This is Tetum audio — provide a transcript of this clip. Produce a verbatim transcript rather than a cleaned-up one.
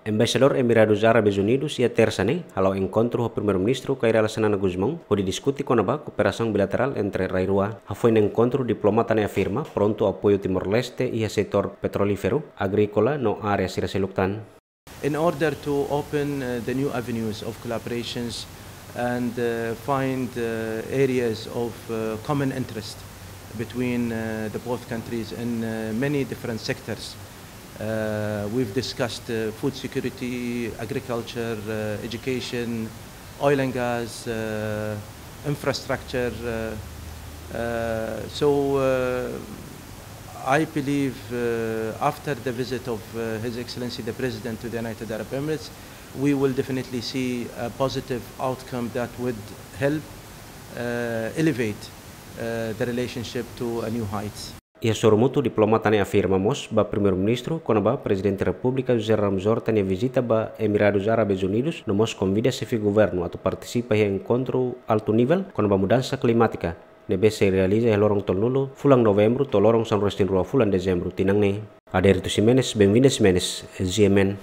Embaixadór Emiradus Árabes Unidus iha Tersa ne'e hala'o enkontru ho Primeiru-Ministru Kay Rala Xanana Gusmão hodi diskute kona-ba kooperasaun bilaterál entre rai rua. Hafoin enkontru, diplomata ne'e afirma prontu apoiu Timor-Leste iha setór petrolíferu, agríkola no área sira seluk tan. In order to open uh, the new avenues of collaborations and uh, find uh, areas of uh, common interest between uh, the both countries in uh, many different sectors. Uh, we've discussed uh, food security, agriculture, uh, education, oil and gas, uh, infrastructure. Uh, uh, so uh, I believe uh, after the visit of uh, His Excellency the President to the United Arab Emirates, we will definitely see a positive outcome that would help uh, elevate uh, the relationship to a new heights. Iha sorumutu, diplomata ne'e afirma mós ba Primeiru-Ministru kona-ba Prezidente Repúblika José Ramos Horta nia vizita ba Emiradus Árabes Unidus, no mós konvida xefe governu atu partisipa iha enkontru altu nivel kona-ba mudansa klimátika ne'ebé sei realiza iha loron tolunulu fulan Novembru to'o loron sanulu-resin-rua fulan Dezembru tinan ne'e. Adérito Ximenes, Benvinda Ximenes, G M N.